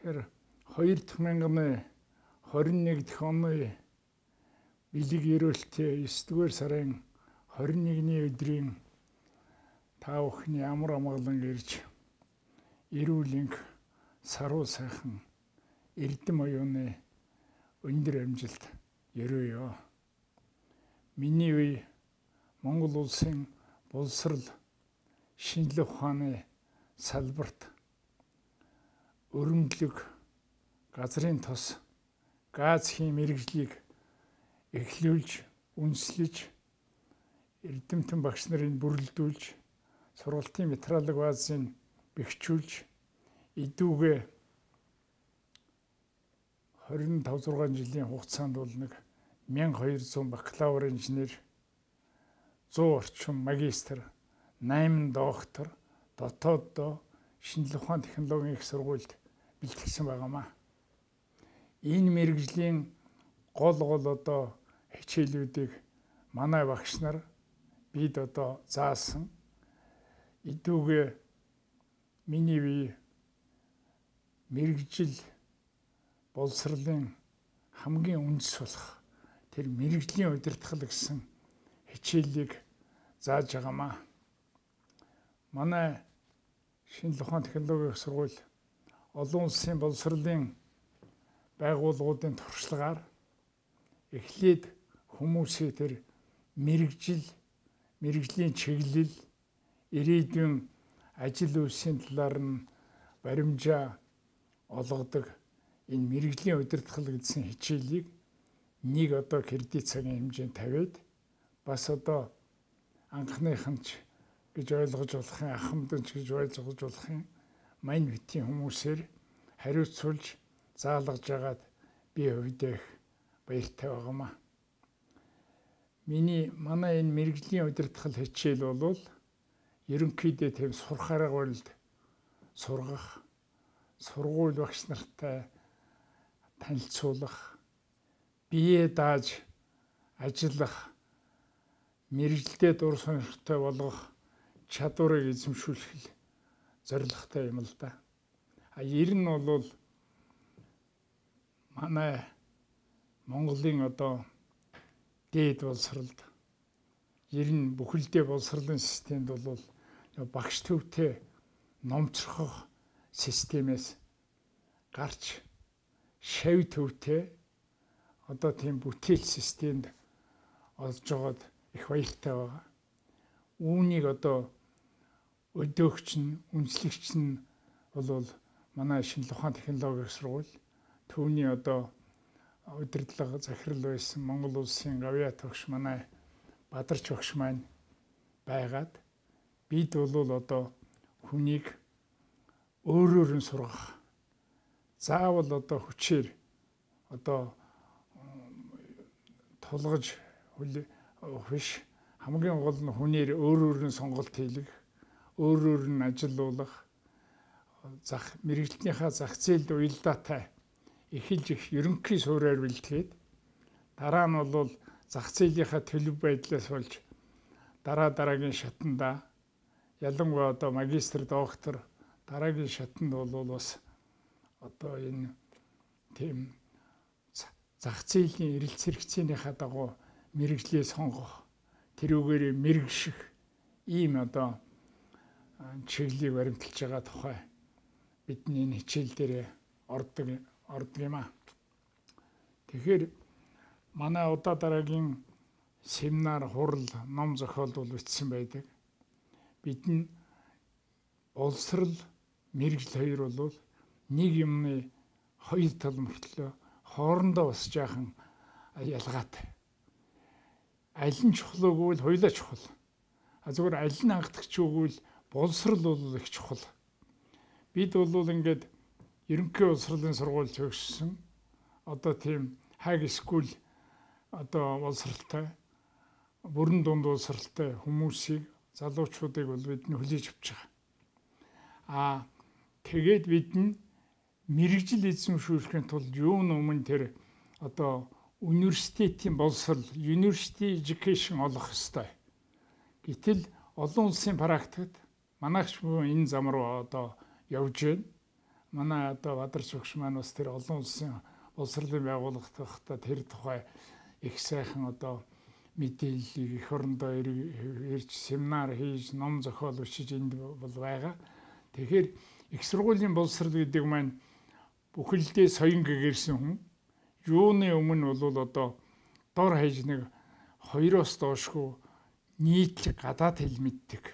Тэгэхээр 2021 дэх оны бэлэг ерөөлтөө 9 дугаар сарын 21-ний өдрийн та бүхний амар амгалан ирж эрүүл энх саруу сайхан эрдэм оюуны өндөр амжилт ерөөё. Миний үе Монгол улсын боловсрол шинжлэх ухааны салбарт өрөмдлөг газрын тос газхийн мэргэжлийг эхлүүлж, үндэслэж, эрдэмтэн багш нарыг бүрэлдүүлж, сургалтын материалын баазыг бэхжүүлж, эдүүгээ 25-6 жилийн хугацаанд бол 1200 бакалавр инженер, 100 орчим магистр, 8 доктор, дотооддоо шинжлэх ухааны технологийн их сургуульд бэлтгэсэн байгаамаа. Энэ мэргэжлийн гол одоо хичээлүүдийг манай багш нар бид одоо заасан. Эдүүгээ миний бие мэргэжил боловсролын хамгийн үндэс болох тэр мэргэжлийн удирдгал гэсэн хичээлийг зааж байгаамаа. Манай шинжлэх ухааны технологийн сургууль олон улсын боловсролын байгууллагуудын туршлагаар эхлээд хүмүүсээ тэр мэргэжлийн чиглэл, ирээдүйн ажил үйлсийн талаар нь баримжаа олгодог энэ мэргэжлийн удирдгал гэсэн хичээлийг нэг одоо кредит цагийн хэмжээнд тавиад бас одоо анхныханч гэж ойлгож болохын, ахмадч гэж ойлгож болохын мань битийн хүмүүсээр хариуцуулж заалгаж байгаад би хувьдаа их баяртай байгаамаа. Манай энэ мэргэжлийн удирдгал хичээл бол ерөнхийдөө тийм сурах арга барилд сургах, сургууль багш нартай танилцуулах, бие дааж ажиллах, мэргэжилдээ дур сонирхтой болгох чадварыг эзэмшүүлэх зорилготой юм л да. Ер нь бол манай Монголын одоо дээд боловсролд ер нь бүхэлдээ боловсролын системд бол багш төвтэй номцрохох системээс гарч шав төвтэй одоо тийм бүтээл системд олж байгаад их баяртай байгаа. Үүнийг одоо өдөөгч нь, үндэслэгч нь бол манай шинжлэх ухааны технологийн сургууль, түүний одоо удирдлага захирал байсан Монгол улсын гавьяа тогш манай Бадарч багш маань байгаад бид бол одоо хүнийг өөрөөр нь сургах, заавал одоо хүчээр одоо тулгаж биш, хамгийн гол нь хүнээр өөрөөр нь сонголт хийлгэх, өөрөөр нь ажиллуулах, мэргэжилтнийхээ зах зээлд уялдаатай эхэлж их ерөнхий суурьаар бэлтгээд дараа нь бол зах зээлийнхаа төлөв байдлаас болж дараагийн шатанда ялангуяа одоо магистр, доктор дараагийн шатанд бол бас одоо энэ тийм зах зээлийн эрэлт хэрэгцээнийхаа дагуу мэргэжлээ сонгох, тэрүүгээр мэргэших ийм одоо чиглэлийг баримталж байгаа тухай бидний энэ хичээл дээр ордог юм аа. Тэгэхээр манай удаа дараагийн семинар, хурал, ном зохиол бичсэн байдаг. Бидний боловсрол, мэргэжил хоёр бол нэг юмны хоёр тал мөртлөө хоорондоо бас жаахан ялгаатай. Аль нь чухал үгүй л хоёулаа чухал. Зүгээр аль нь анхдагч үгүй л боловсрол бол их чухал. Бид бол ингээд ерөнхий боловсролын сургууль төгссөн. Одоо тийм хай скул одоо боловсралтай, бүрэн дунд боловсралтай хүмүүсийг, залуучуудыг бол бид нь хүлээж авч байгаа. Тэгээд бид нь мэргэжил эзэмшүүлэхийн тулд юун өмнө тэр одоо университетийн боловсрол, university education олох ёстой. Гэтэл олон улсын практикт манайч энэ зам руу одоо явж байна. манай одоо Бадарч багш маань бас тэр олон улсын боловсролын байгууллагатай тэр тухай их сайхан одоо мэдээллийг эх орондоо ирж семинар хийж ном зохиол бичиж энд бол байгаа. Тэгэхээр их сургуулийн боловсрол гэдэг маань бүхэлдээ соён гэгэрсэн хүн юуны өмнө бол одоо дор хаяж нэг 2-оос доошгүй нийтлэг гадаад хэл мэддэг,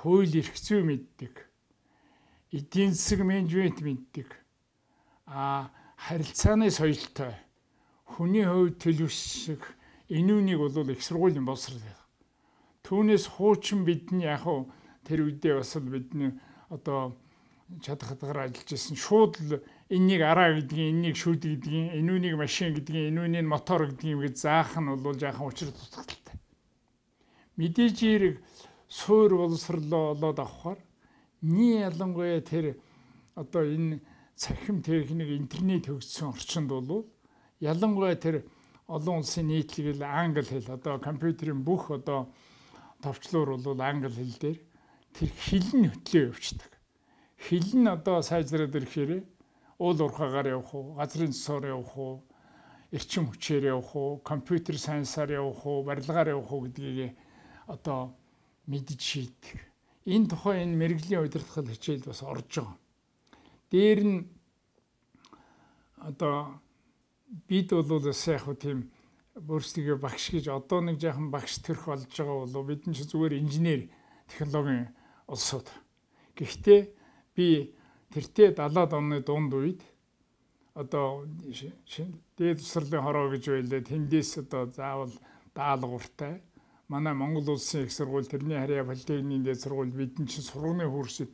хууль эрх зүй мэддэг, эдийн засаг менежмент мэддэг, харилцааны соёлтой, хүний хувьд төлөвшөх энүүнийг бол их сургуулийн боловсрол байна. Түүнээс хуучин бидний яг тэр үедээ бас бидний одоо чадах хадгаар ажиллаж байсан шууд л энэнийг араа гэдгийг, энэнийг шүүд гэдгийг, энүүнийг машин гэдгийг, энүүнийг мотор гэдгийг гэж заах нь бол жаахан учир дутагдaltaй. Мэдээж хэрэг суур боловсрлоо олоод авахаар ялангуяа тэр одоо энэ цахим техник интернет хөгжсөн орчинд бол ялангуяа тэр олон улсын нийтлэг англи хэл одоо компьютерийн бүх одоо товчлуур бол англи хэл дээр тэр хэл нь хөтлөө явчихдаг. Хэл нь одоо сайжраад ирэхээр уул уурхаагаар явах уу, газрын цэсээр явах уу, эрчим хүчээр явах уу, компьютер сайенсаар явах уу, барилгаар явах уу гэдгийг одоо мэдж шийддэг. Энэ тухай энэ мэрэгжлийн удирдгал хичээл бас орж байгаа. Дээр нь одоо бид бол сайхан тийм өөрсдөө багш гэж одоо нэг жаахан багш төрх болж байгаа бол бид нь ч зүгээр инженер технологийн улсууд. Гэхдээ би тэртээ 70-аад оны дунд үед одоо дээд тусралын хороо гэж байлаа тэндээс одоо заавал даалгавартай манай Монгол улсын их сургууль тэрний харьяа политехникийн дээд сургууль бидний чинь сургуулийн хурсд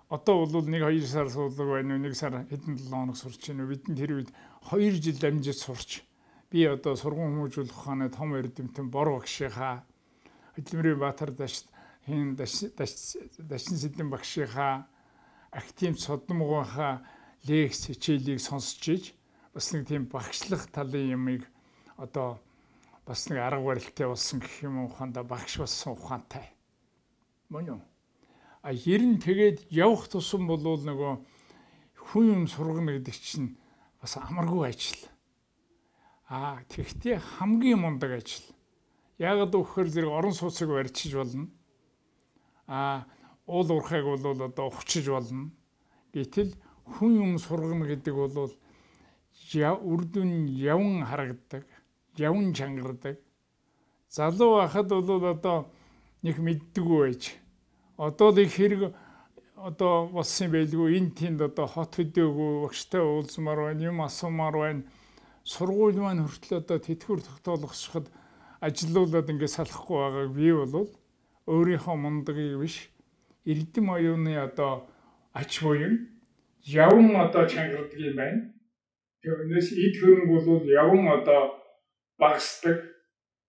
одоо бол 1-2 сар суудаг байна уу 1 сар хэдэн 7 хоног сурч байна уу бид тэр үед 2 жил амжиж сурч би одоо сургууль хүмүүжүүлэх ухааны том эрдэмтэн бор багшийнхаа Хөдөлмөрийн Баатар Дашин Сэдэн багшийнхаа актив содмогынхаа лекц хичээлийг сонсч иж бас нэг тийм багшлах талын юмыг одоо бас нэг арга барилтай болсон гэх юм ухаандаа багш болсон ухаантай. Мөн үү? Ер нь тэгээд явах тусам бол нөгөө хүн юм сургана гэдэг чинь бас амаргүй ажил. Тэгвэл хамгийн мундаг ажил. Яг гэхээр зэрэг орон сууцыг барьчиж болно. Уул уурхайг бол одоо ухчиж болно. Гэтэл хүн юм сургана гэдэг бол үр дүн явн харагдаг, явн чангардаг. Залуу байхад бол одоо нэг мэддэггүй байж. Одоо л их хэрэг одоо болсон байлгүй энэ тэнд одоо хот хөдөөгүй багштай уулзмаар байна, юм асуумаар байна. Сургууль маань хүртэл одоо тэтгэвэр тогтоолгоход ажилуулад ингээд салахгүй байгааг би бол өөрийнхөө мундагыг биш эрдэм оюуны одоо ач буян явн одоо чангардаг юм байна. Тэрнээс эд хөрөнгө бол явн одоо багасдаг.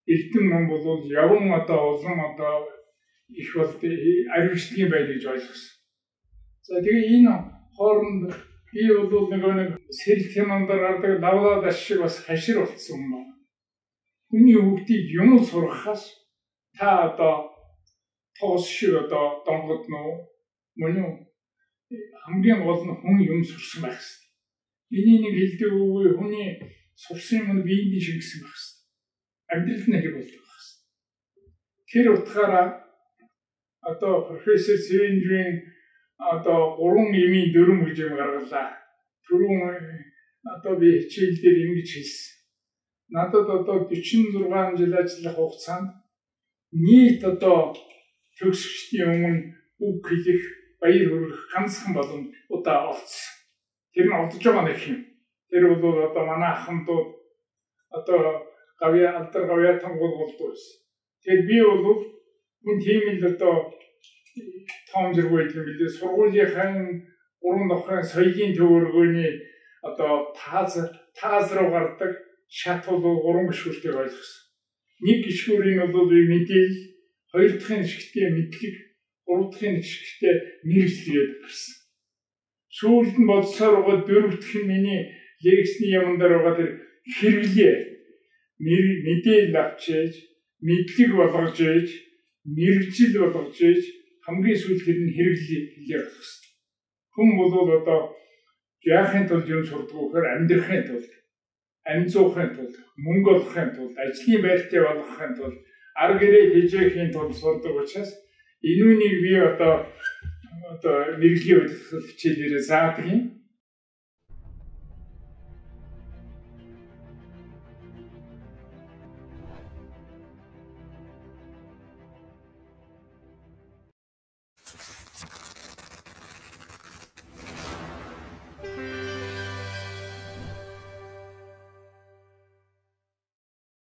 Эрдэм ном бол явн одоо улам одоо их бол ариучлын байл гэж ойлгосон. За тэгээ энэ хооронд би бол нэг сэрэл кинондор гардаг лавлаад ашиг бас хашир болцсон юм байна. Хүний хөвгтийг юм сургахаас та одоо тоос шиг одоо донгод нөө мөн үү хамгийн гол нь хүн юм сурсан байх хэрэгтэй. Энийг нэг хэлдэг үгүй хүний сурсан юм нь биеийн шиг гэсэн байх хэрэгтэй. Амьдрал нь хэрэг болдог байх хэрэгтэй. Тэр утгаараа одоо профессор Цэвэнжийн одоо 3 эмийн 4 гэж юм гаргалаа. Түрүүн одоо би хичээл дээр ингэж хэлсэн. Надад одоо 46 жил ажиллах хугацаанд нийт одоо төгсөгчдийн өмнө үг хэлэх, баяр хүргэх ганцхан боломж удаа олцсон. Тэр нь олдож байгаа нэг юм. Тэр бол одоо манай ахмадууд одоо алдар гавьяатан болдог байсан. Тэгэхээр би бол хүн тийм л одоо том зэрэг байдаг юм билээ. Сургуулийнхаа 3 давхрын соёлын төвөргөний одоо тааз руу гардаг шат бол 3 гишүүртэй ойлгосон. Нэг гишүүрийн бол мэдээлэл, хоёр дахь хэсэгтээ мэдлэг, гурав дахь хэсэгтээ мэргэжлээд гарсан. Сүүлд нь бодсоор байгаа дөрөв дэх нь миний лекцийн юм дээр байгаа тэр хэрэглээ. Мэдээлэл авч ээж, мэдлэг болгож ээж, мэргэжил болгож ээж хамгийн сүүлд тэр нь хэрэглээ болох хэрэгтэй. Хүн бол одоо яахын тулд юм сурдаг вөхөр амьдрахын тулд, амьцуухын тулд, мөнгө олохын тулд, ажлын байртай болгохын тулд, ар гэрээ хижээхийн тулд сурдаг учраас энүүнийг би одоо мэрэгжлийн удирдлагын хичээлээрээ заадаг юм.